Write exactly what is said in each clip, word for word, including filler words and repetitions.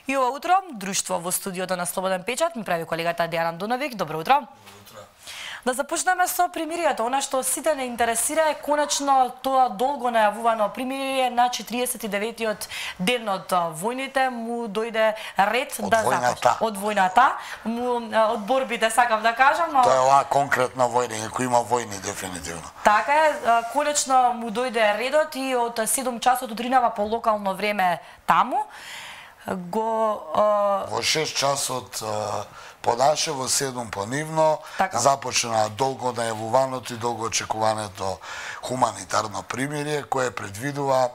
И ова утро, друштво во студиото на Слободен печат ми прави колегата Дејан Андуновиќ. Добро утро. Добро утро. Да започнеме со примирието. Она што сите не интересира е конечно тоа долго најавувано примирие на четириесет и деветиот ден од војните му дојде ред од да започне. Од војната, му, од борбите сакам да кажам, но тоа е оваа конкретна војна, кој има војни дефинитивно. Така е, конечно му дојде редот и од седум часот утринава по локално време таму го а... во шест часот а, по наше, во седум по нивно, така започна долго најавуваното и долго очекуваното хуманитарно примирие, кое предвидува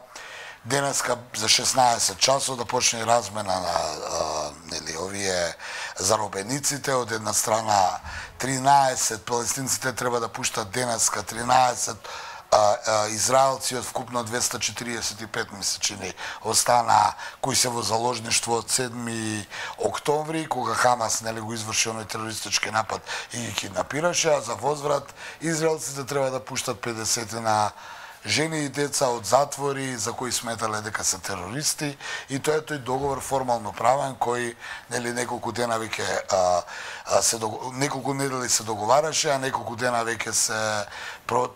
денеска за шеснаесет часот да почне размена на а, нели овие заробениците. Од една страна тринаесет палестинците треба да пуштат денеска, тринаесет А, а, израелци од вкупно двеста четириесет и пет месечини остана кои се во заложништво од седми октомври, кога Хамас нели го изврши оној терористички напад и ги киднапираше, а за возврат израелците треба да пуштат педесет на жени и деца од затвори за кои сметале дека се терористи, и тоа е тој договор формално правен кој нели неколку дена веќе а, а, се неколку недели се договараше, а неколку дена веќе се про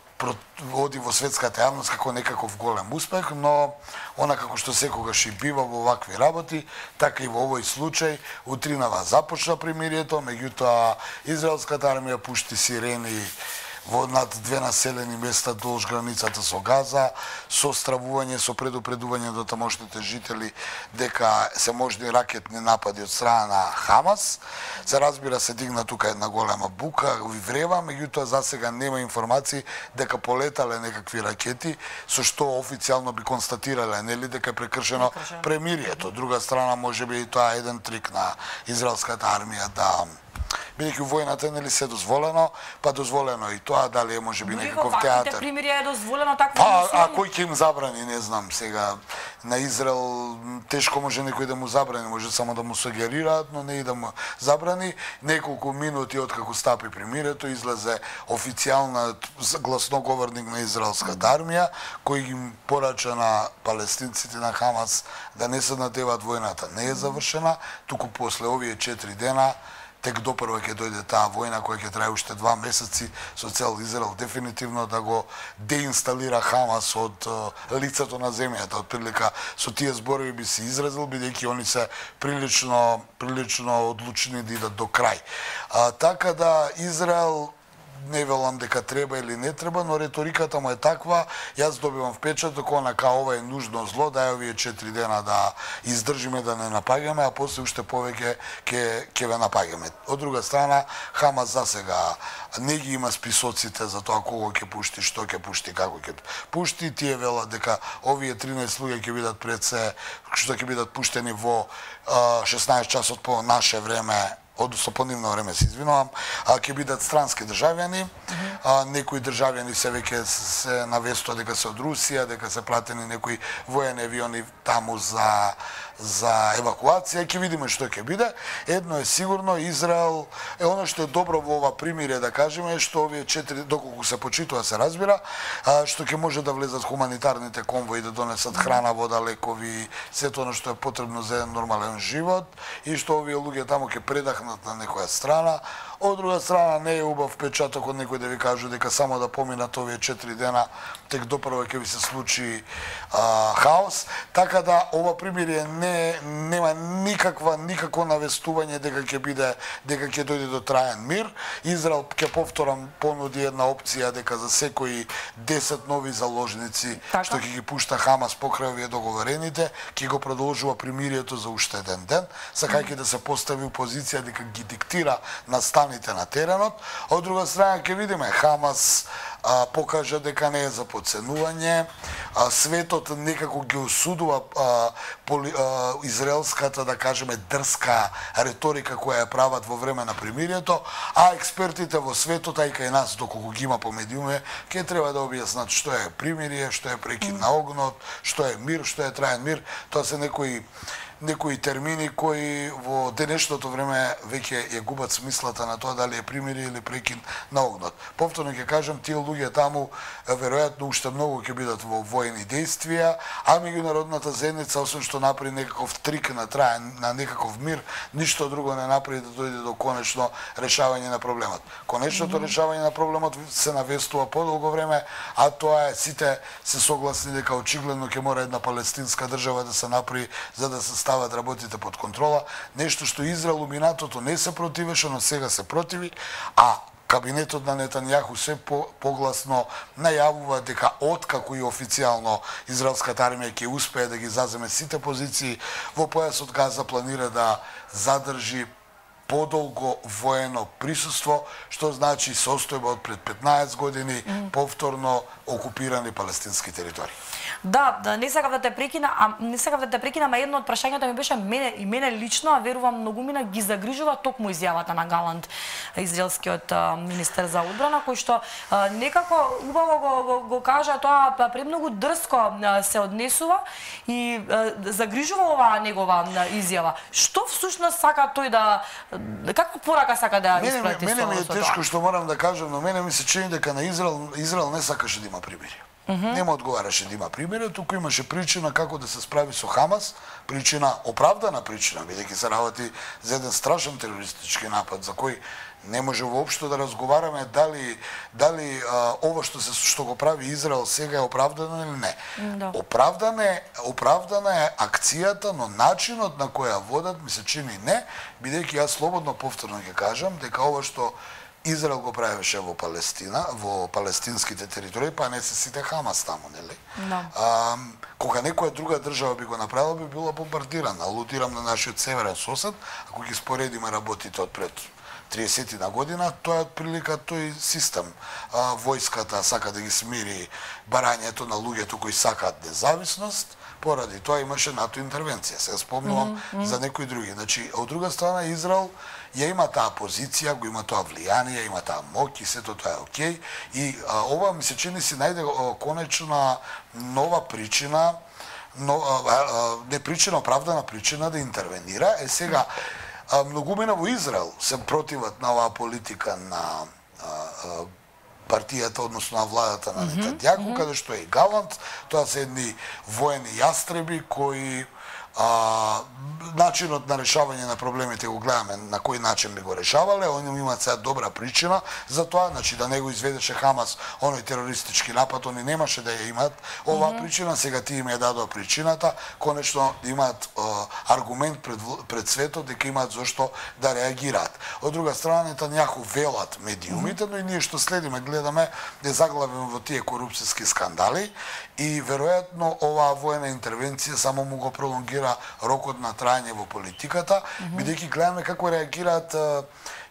оди во светската јавност како некаков голем успех, но она како што секогаш и бива во вакви работи, така и во овој случај утринава започна примирието, меѓутоа израелската армија пушти сирени во над две населени места долж границата со Газа, со стравување, со предупредување до тамошните жители дека се можни ракетни напади од страна на Хамас. Се разбира се дигна тука една голема бука и врева, меѓутоа засега нема информации дека полетале некакви ракети, со што официјално би констатирале нели дека е прекршено премирието. Од друга страна можеби и тоа е еден трик на израелската армија да бидејќи војната нели се дозволено, па дозволено и тоа, дали е можеби некаков театар. Примирие е дозволено такво. Па, а кој ќе им забрани, не знам, сега на Израел тешко може некој да му забрани, може само да му сугерираат, но не и да му забрани. Неколку минути откако стапи примирието, излезе официјална гласноговорник на израелската армија, кој им порача на палестинците на Хамас да не се надеват војната. Не е завршена, туку после овие четири дена тек допрва ќе дојде таа војна која ќе трае уште два месеци со цел Израел дефинитивно да го деинсталира Хамас од лицето на земјата. Од прилика со тие зборови би се изразил, бидејќи они се прилично прилично одлучени да идат до крај. А, така да Израел не велам дека треба или не треба, но реториката му е таква. Јас добивам впечаток онака ова е нужно зло, да е овие четири дена да издржиме да не напаѓаме, а после уште повеќе ќе ќе ве напаѓаме. Од друга страна, Хамас засега не ги има списоците за тоа кого ќе пушти, што ќе пушти, како ќе пушти. Тие велат дека овие тринаесет луѓе ќе бидат пред се, што ќе бидат пуштени во шеснаесет часот по наше време, односно по нивно време се извинувам, а ќе бидат странски државјани, а, некои државјани се веќе се навестува дека се од Русија, дека се платени некои воени авиони таму за за евакуација, ќе видиме што ќе биде. Едно е сигурно, Израел е она што е добро во ова примирие, да кажеме, што овие четири, доколку се почитува, се разбира, а, што ќе може да влезат хуманитарните конвои да донесат храна, вода, лекови, сето она што е потребно за еден нормален живот, и што овие луѓе таму ќе предахнат на некоја страна. Од друга страна, не е убав впечаток од некој да ви кажу дека само да поминат овие четири дена, тек допрва ќе ви се случи а, хаос. Така да, ова примирие не нема никаква никакво навестување дека ќе биде дека ќе дојде до траен мир. Израел, ќе повторам, понуди една опција дека за секои десет нови заложници така што ќе ги пушта Хамас покрај овие договорените, ќе го продолжува примирието за уште еден ден, сакајќи да се постави у позиција дека ги диктира настаните на теренот. Од друга страна ќе видиме Хамас а, покажа дека не е за подценување, а, светот некако ги осудува а, поли, а, израелската, да кажеме, дрска реторика која ја прават во време на примирието, а експертите во светот, а и кај нас, доколку ги има по медиуме, ќе треба да објаснат што е примирие, што е прекид на огнот, што е мир, што е траен мир. Тоа се некои некои термини кои во денешното време веќе ја губат смислата на тоа дали е примирие или прекин на огнот. Повторно ќе кажам, тие луѓе таму веројатно уште многу ќе бидат во воени действија, а меѓународната заедница, освен што направи некаков трик на траен на некаков мир, ништо друго не направи да дојде до конечно решавање на проблемот. Конечното mm -hmm. решавање на проблемот се навестува подолго време, а тоа е сите се согласни дека очигледно ќе мора една палестинска држава да се направи за да се стават работите под контрола, нешто што Израел у минатото не се противеше, но сега се противи, а кабинетот на Нетањаху се по, погласно најавува дека откако и официјално израелската армија ќе успее да ги заземе сите позиции во појасот Газа, планира да задржи подолго воено присуство, што значи состојба од пред петнаесет години mm. повторно окупирани палестински територии. Да, да, не сакав да те прекина, а не сакав да те прекина, ама едно од прашањата ми беше мене и мене лично, а верувам многумина ги загрижува токму изјавата на Галант, израелскиот а, министер за одбрана, кој што а, некако убаво го, го, го кажа тоа, премногу дрско а, се однесува и а, загрижува оваа негова а, изјава. Што всушност сака тој да како порака сака да испрати? Мене ми е тешко што морам да кажам, но мене ми се чини дека на Израел Израел не сакаше да има примирие. Mm -hmm. Нема одговараше да има примерие, туку имаше причина како да се справи со Хамас, причина, оправдана причина, бидејќи се работи за еден страшен терористички напад, за кој не може воопшто да разговараме дали дали а, ова што се што го прави Израел сега е оправдано или не. Да. Оправдана е, оправдана е акцијата, но начинот на која водат ми се чини не, бидејќи јас слободно повторно ќе кажам дека ова што Израел го правеше во Палестина, во палестинските територии, па не се сите Хамас таму, нели? Да. А, кога некоја друга држава би го направила, би била бомбардирана. Алудирам на нашиот северен сосед, ако ги споредиме работите од пред триесетина година, тоа е отприлика тој систем. А, војската сака да ги смири барањето на луѓето кои сакаат независност, поради тоа имаше НАТО интервенција. Сега спомнувам mm -hmm. за некои други. Значи, од друга страна Израел ја има таа позиција, го има тоа влијание, има таа моќ и сето тоа е окей. И а, ова ми се чини си најде конечна нова причина, но, а, а, не причина, оправдана причина да интервенира. Е сега, а, многумина во Израел се противат на оваа политика на а, а, партијата, односно на владата на Нетањаху, mm -hmm. каде што е и Галант, тоа се едни воени јастреби кои а, начинот на решавање на проблемите го гледаме на кој начин би го решавале, они имаат сега добра причина за тоа, значи да не го изведеше Хамас оној терористички напад, они немаше да ја имаат оваа mm -hmm. причина, сега тие им ја дадоа причината, конечно имаат а, аргумент пред, пред светот дека имаат зошто да реагираат. Од друга страна Нетањаху велат медиумите, mm -hmm. но и ние што следиме, гледаме да заглавиме во тие корупцијски скандали и веројатно оваа воена интервенција само му го пролонгира рокот на трајање во политиката, mm -hmm. бидејќи гледаме како реагираат а,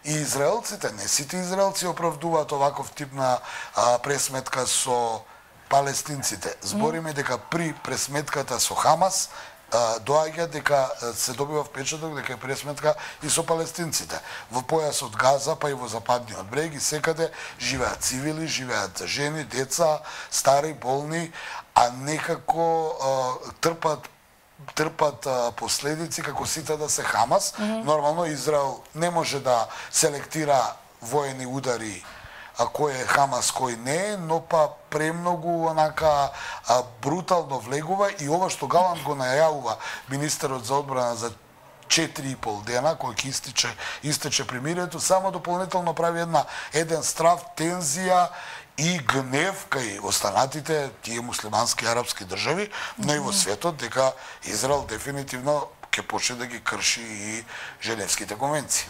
и израелците. Не сите израелци оправдуваат оваков тип на а, пресметка со палестинците. Збориме mm -hmm. дека при пресметката со Хамас а, доаѓа дека се добива впечаток дека е пресметка и со палестинците. Во појасот Газа, па и во западниот брег и секаде живеат цивили, живеат жени, деца, стари, болни, а некако а, трпат трпат а, последици како сите да се Хамас. Mm -hmm. Нормално Израел не може да селектира воени удари а кој е Хамас, кој не е, но па премногу онака а, брутално влегува и ова што Галант го најавува министерот за одбрана за четири и пол дена, кој ќе истиче, истече примирието, само дополнително прави една еден страв, тензија и гнев кај останатите тие муслимански арапски држави, но и во светот дека Израел дефинитивно ќе почне да ги крши и Женевските конвенции.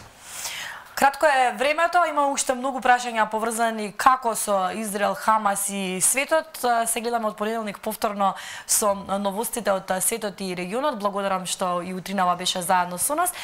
Кратко е времето, има уште многу прашања поврзани како со Израел, Хамас и светот. Се гледаме од понеделник повторно со новостите од светот и регионот. Благодарам што и утринава беше заедно со нас.